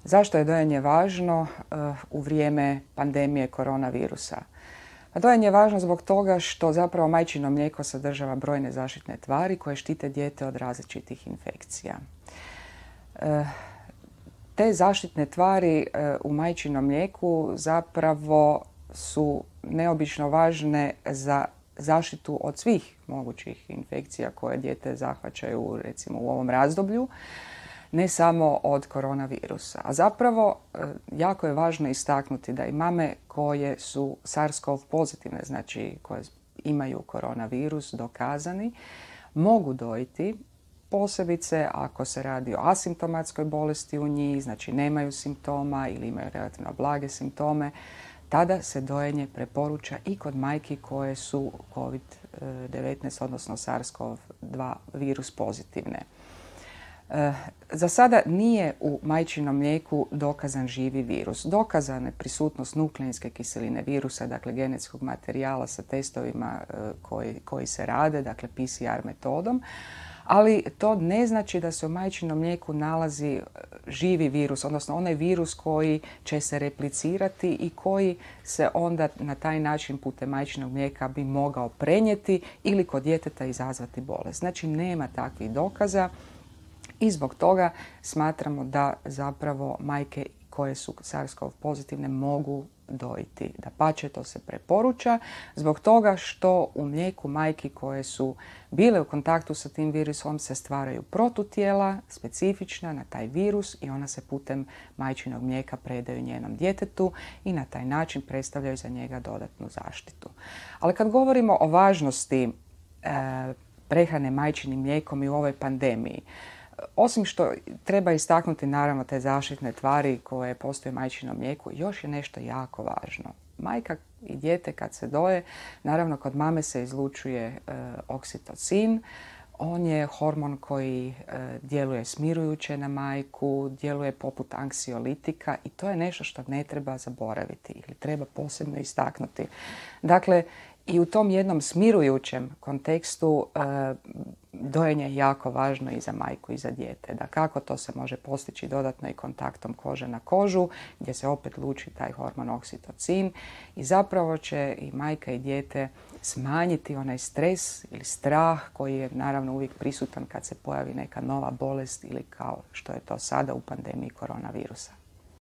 Zašto je dojenje važno u vrijeme pandemije koronavirusa? Dojenje je važno zbog toga što zapravo majčino mlijeko sadržava brojne zaštitne tvari koje štite dijete od različitih infekcija. Te zaštitne tvari u majčinom mlijeku zapravo su neobično važne za zaštitu od svih mogućih infekcija koje dijete zahvaćaju recimo u ovom razdoblju, ne samo od koronavirusa. A zapravo jako je važno istaknuti da i mame koje su SARS-CoV pozitivne, znači koje imaju koronavirus dokazani, mogu dojiti, posebice ako se radi o asimptomatskoj bolesti u njih, znači nemaju simptoma ili imaju relativno blage simptome, tada se dojenje preporuča i kod majki koje su COVID-19, odnosno SARS-CoV-2 virus pozitivne. Za sada nije u majčinom mlijeku dokazan živi virus. Dokazana je prisutnost nukleinske kiseline virusa, dakle genetskog materijala sa testovima koji se rade, dakle PCR metodom, ali to ne znači da se u majčinom mlijeku nalazi živi virus, odnosno onaj virus koji će se replicirati i koji se onda na taj način putem majčinog mlijeka bi mogao prenijeti ili kod djeteta izazvati bolest. Znači nema takvih dokaza. I zbog toga smatramo da zapravo majke koje su SARS-CoV pozitivne mogu dojiti. Dapače, to se preporuča zbog toga što u mlijeku majki koje su bile u kontaktu sa tim virusom se stvaraju protutijela specifična na taj virus i ona se putem majčinog mlijeka predaju njenom djetetu i na taj način predstavljaju za njega dodatnu zaštitu. Ali kad govorimo o važnosti prehrane majčinim mlijekom i u ovoj pandemiji, osim što treba istaknuti naravno te zaštitne tvari koje postoje u majčinom mlijeku, još je nešto jako važno. Majka i dijete kad se doje, naravno kod mame se izlučuje oksitocin. On je hormon koji djeluje smirujuće na majku, djeluje poput anksiolitika i to je nešto što ne treba zaboraviti ili treba posebno istaknuti. Dakle, i u tom jednom smirujućem kontekstu dojenje je jako važno i za majku i za dijete. Da kako to se može postići dodatno i kontaktom kože na kožu, gdje se opet luči taj hormon oksitocin i zapravo će i majka i dijete smanjiti onaj stres ili strah koji je naravno uvijek prisutan kad se pojavi neka nova bolest ili kao što je to sada u pandemiji koronavirusa.